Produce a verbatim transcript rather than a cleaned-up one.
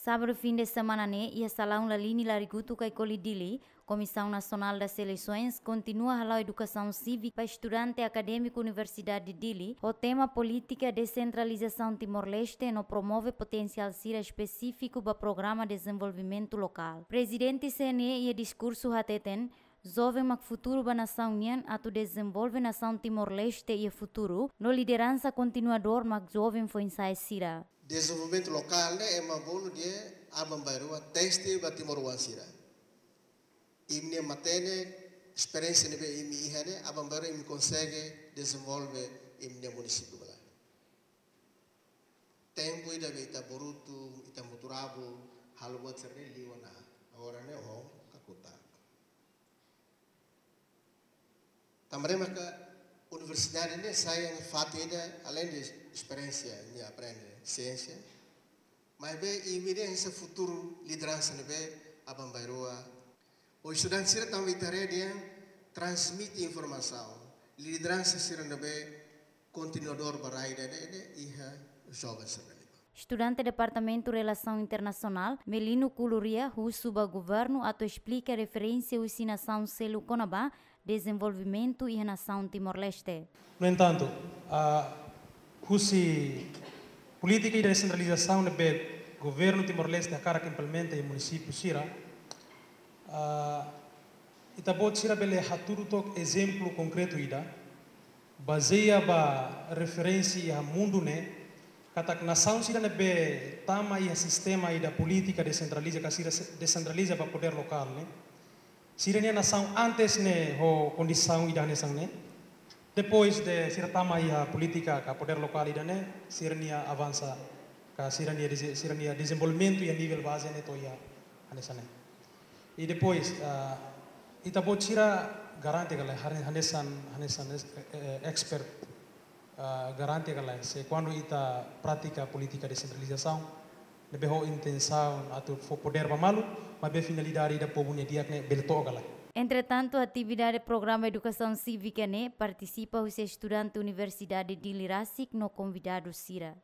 Sábadu fin de semana ne'e, iha salaun Lalini Larigutu Kaikoli Dili, Comissão Nacional das Eleições kontinua hala'o edukasaun sívika ba estudante akadémiku Universidade de Dili, ho tema polítika desentralizasaun Timor-Leste no promove potensiál sira espesífiku ba programa dezenvolvimentu lokál. Prezidente C N E iha diskursu hateten, joven mak futuru ba nasaun nian, atu dezenvolve nasaun Timor-Leste iha futuru, no lideransa kontinuadór mak joven foin-sa'e sira. Dezenvolvimentu lokál ne'e ema bolu dehan aban-bainrua teste ba timoroan sira. Imi-nia matenek, esperiénsia ne'ebé imi iha ne'e, aban-bainrua imi konsege dezenvolve imi-nia munisípiu ba laran. Tempu ida be ita borutu, ita muturabul, halo buat sira-ne'e liu ona. Agora ne'e ho kakutak. Tanba ne'e maka universidade ne'e sai fatin ida, além de esperiénsia, nia aprende siénsia, maibé imi dehan hanesan futuru lideransa ne'ebé aban-bainrua. Ho estudante sira tanba ita haree dehan transmite informasaun, lideransa sira ne'ebé kontinuadór ba rai ida-ne'e, ne'e iha joven sira-ne'e. Estudante Departamentu Relasaun Internasionál, Melino Kuluria, husu ba governu atu esplika referénsia husi nasaun seluk kona-ba dezenvolvimentu iha nasaun Timor-Leste. No entantu, ah, husi polítika ida desentralizasaun ne'ebé governu Timor-Leste hakarak implementa iha munisípiu sira, ah, ita-boot sira bele hatudu took ezemplu konkretu ida, bazeia ba referénsia iha mundu ne'e, katak nasaun sira ne'ebé tama iha sistema ida polítika desentraliza, ka sira se-, desentraliza ba podér lokál ne'e, sira-nia nasaun antes ne'e ho kondisaun ida hanesan ne'e. Depois de sira tama iha polítika ka podér lokál ida-ne'e, sira-nia avansa, ka sira-nia deze-, sira-nia dezenvolvimentu iha nivel baze ne'e to'o iha hanesan ne'e. I depois, ah, ita-boot sira garante ka lae, hane-, hanesan, hanesan, eh, eh, expert, ah, garante ka lae, se kuandu ita pratika polítika desentralizasaun, ne'ebé ho intensaun atu fó podér ba malu, maibé finalidade ida povu nia di'ak ne'e bele to'o ka lae. Entretantu, atividade programa edukasaun sívika ne'e partisipa husi estudante Universidade Dili rasik no konvidadu sira.